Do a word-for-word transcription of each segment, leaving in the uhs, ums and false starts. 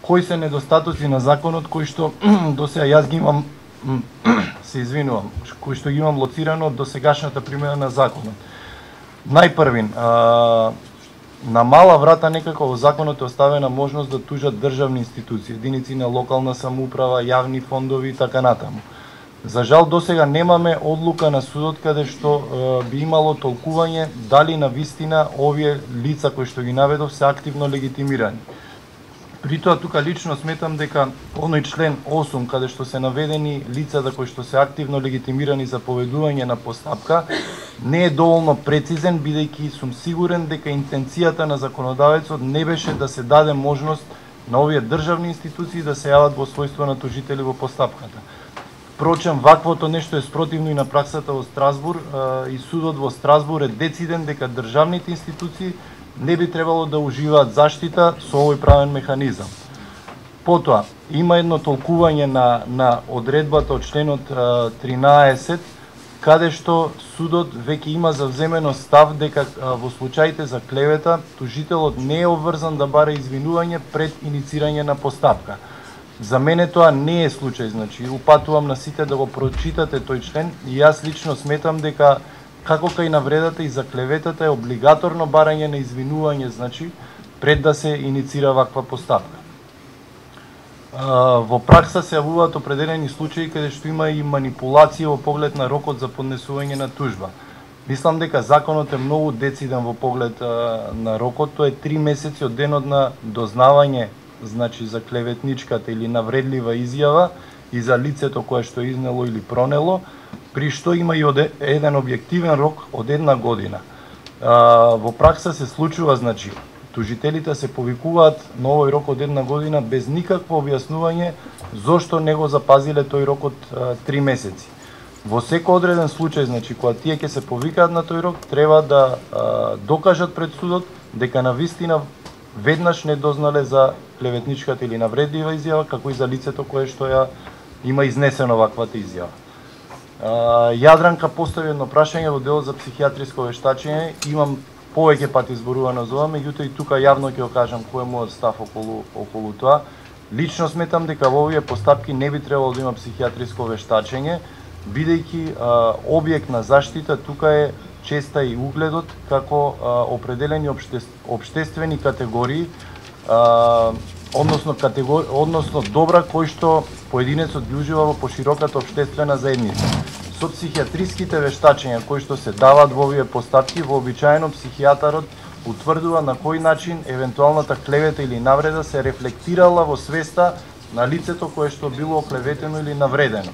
кои се недостатоци на законот кои што до сега јас ги имам се извинувам, кои што ги имам лоцирано од досегашната примена на законот. Најпрвин, а, на мала врата некако во законот е оставена можност да тужат државни институции, единици на локална самоуправа, јавни фондови и така натаму. За жал досега немаме одлука на судот каде што е, би имало толкување дали на вистина овие лица кои што ги наведов се активно легитимирани. При тоа тука лично сметам дека оној член осум каде што се наведени лицата кои што се активно легитимирани за поведување на постапка не е доволно прецизен, бидејќи сум сигурен дека интенцијата на законодавецот не беше да се даде можност на овие државни институции да се јават во својство на тужители во постапката. Впрочем, ваквото нешто е спротивно и на праксата во Страсбур и судот во Страсбур е дециден дека државните институции не би требало да уживаат заштита со овој правен механизам. Потоа, има едно толкување на, на одредбата од членот тринаесет, каде што судот веќе има завземено став дека во случаите за клевета, тужителот не е обврзан да бара извинување пред иницирање на постапка. За мене тоа не е случај, значи упатувам на сите да го прочитате тој член и јас лично сметам дека како кај навредата и за клеветата е облигаторно барање на извинување, значи пред да се иницира ваква постапка. Во пракса се јавуваат определени случаи каде што има и манипулација во поглед на рокот за поднесување на тужба. Мислам дека законот е многу дециден во поглед на рокот, тоа е три месеци од денот на дознавање, значи за клеветничката или навредлива изјава и за лицето кое што е изнело или пронело, при што има и од еден објективен рок од една година. Во пракса се случува, значи, тужителите се повикуваат на овој рок од една година без никакво објаснување зошто не го запазиле тој рок од три месеци. Во секој одреден случај, значи, кога тие ќе се повикаат на тој рок, треба да а, докажат пред судот дека на вистина веднаш не дознале за клеветничката или навредлива изјава, како и за лицето кое што ја има изнесено ваквата изјава. Јадранка постави едно прашање во делот за психијатриско вештачење. Имам повеќе пати зборувано за ова, меѓутоа и тука јавно ќе го кажам кој е мојот став околу, околу тоа. Лично сметам дека во овие постапки не би требало да има психијатриско вештачење, бидејќи објект на заштита тука е честа и угледот како а, определени обште, обштествени категории, а, односно категори, односно добра кои што поединецот ги ужива во пошироката обштествена заедница. Со психијатриските вештачења кои што се даваат во овие постапки, вообичаено психијатарот утврдува на кој начин евентуалната клевета или навреда се рефлектирала во свеста на лицето кое што било оклеветено или навредено.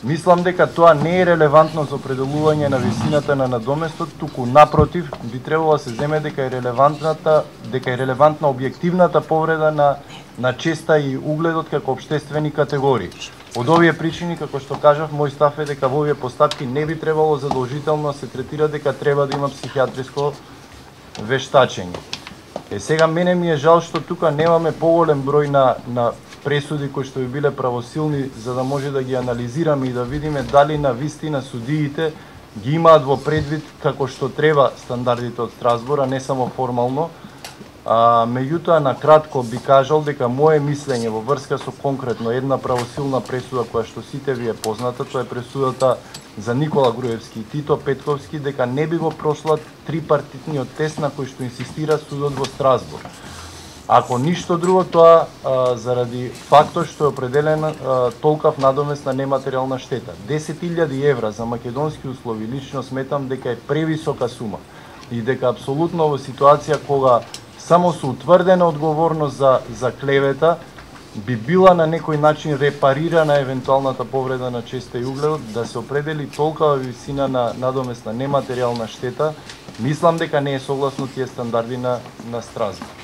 Мислам дека тоа не е релевантно за определување на висината на надоместот, туку напротив би требало да се земе дека е релевантната, дека е релевантна објективната повреда на на честа и угледот како обштествени категории. Од овие причини, како што кажав, мој став е дека во овие постапки не би требало задолжително да се третира дека треба да има психијатриско вештачење. Е сега мене ми е жал што тука немаме поголем број на на пресуди кои што би биле правосилни, за да може да ги анализираме и да видиме дали на вистина судиите ги имаат во предвид како што треба стандардите од Страсбур, а не само формално. А, меѓутоа, на кратко би кажал дека моje мислење во врска со конкретно една правосилна пресуда која што сите ви е позната, тоа е пресудата за Никола Груевски и Тито Петковски, дека не би го прошла трипартитниот тест на кој што инсистира судот во Страсбур. Ако ништо друго, тоа а, заради фактот што е определена а, толкав надомест на нематеријална штета. десет илјади евра за македонски услови лично сметам дека е превисока сума и дека апсолутно во ситуација кога само со утврдена одговорност за, за клевета би била на некој начин репарирана евентуалната повреда на честа и угледот, да се определи толкава висина на надоместна нематеријална штета, мислам дека не е согласно тие стандарди на, на Страсбур.